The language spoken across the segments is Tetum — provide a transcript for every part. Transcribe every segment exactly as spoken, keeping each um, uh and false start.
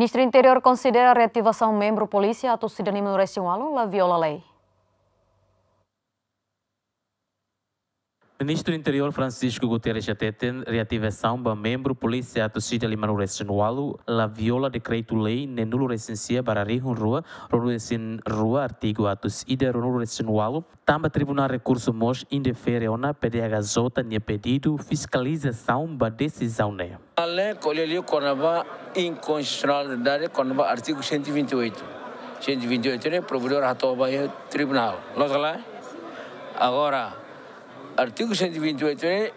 Ministru Interiór konsidera reativasaun membru polísia atus ida limanulu-resin-ualu la viola lei. Ministru Interiór Francisco Guterres hateten reativasaun ba membru polísia atus ida limanulu-resin-ualu la viola dekretu-lei neenulu-resin-sia barra rihun rua ruanulu-resin-rua, artigu atus ida ruanulu-resin-ualu, tanba Tribunál Rekursu mós indefere ona P D H J nia pedidu fiskalizasaun ba desizaun ne'e. Ale ko'alia liu kona-ba inkonstitusionalidade kona-ba artigu cento e vinte e oito. Cento e vinte e oito ne'e provedór hato'o ba iha tribunál. Loos ka lae? Agora, artigu cento e vinte e oito ne'e,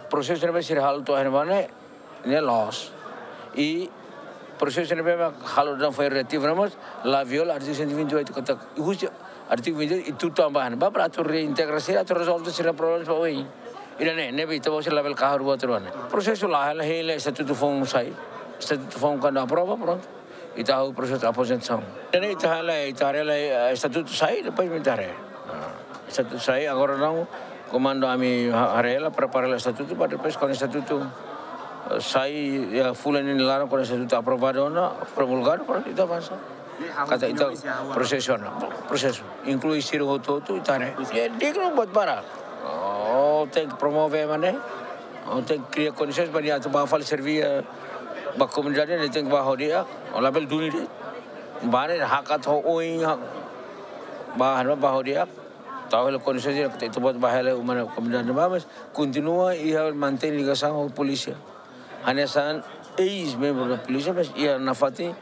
prosesu ne'ebé sira halo to'o iha ne'ebá ne'e, ne'e loos. I prosesu ne'ebé mak halo daudaun foin reativu ne'e mós la viola artigu cento e vinte e oito katak husi artigu vinte e oito ita tutan ba iha ne'ebá para atu reintegra sira, atu rezolve sira-nia problema ba oin. Ida-ne'e, ne'ebé ita-boot sira labele kahur buat rua ne'e. Prosesu laiha, la hela estatutu foun sai. Estatutu foun kuandu aprova, prontu. Ita halo prosesu aposentasaun. Ida-ne'e ita hela, ita haree hela, eh, estatutu sai, depois ita haree. Ah, estatutu sai, agora daudaun, komandu ami ha-, haree hela, prepara hela estatutu, para depois kuandu estatutu, eh, sai, iha fulan ida-ne'e nia laran, kuandu estatutu aprovadu ona, promulgadu, prontu, ita avansa. Katak ita prosesu ona, prosesu. Inklui sira hotu-hotu, ita haree. Iha dignu buat barak. Oh, tenke promove ema ne'e. Oh, tenke kria kondisaun ba nia atu bá fali serví, eh, ba komunidade, nia tenke bá ho di'ak. Oh, labele duni de'it. Bá ne'e hakat ho oin, ha-, bá, bá ho di'ak. Tau hela kondisaun sira, ita-boot bá hela uma ne'e komunidade ne'ebá, mas kontinua iha mantein ligasaun ho polísia. Hanesan eis-membru da polísia, mas iha nafatin,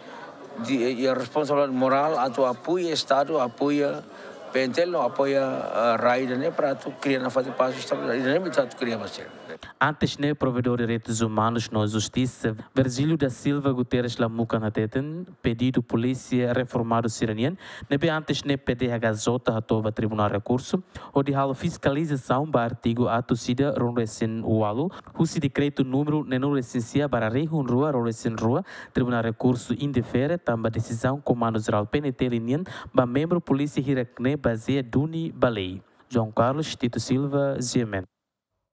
iha responsabilidade morál atu apoia Estadu, apoia P N T L, no apoia, eh, rai ida-ne'e para atu kria nafatin pás, estabilidade ida-ne'e ita atu kria ba sira. Antes ne'e, Provedór Direitus Umanus no Justisa, Virgílio da Silva Guterres Lamukan hateten, pedidu polísia reformadu sira-nian, ne'ebé antes ne'e P D H J hato'o ba Tribunál Rekursu, hodi halo fiskalizasaun ba artigu atus ida ruanulu-resin-ualu, husi dekretu númeru neenulu-resin-sia barra rihun rua ruanulu-resin-rua, Tribunál Rekursu indefere tanba desizaun Komandu Jerál P N T L nian ba membru polísia hirak ne'e bazeia duni ba lei. João Carlos Tito Silva, G M N.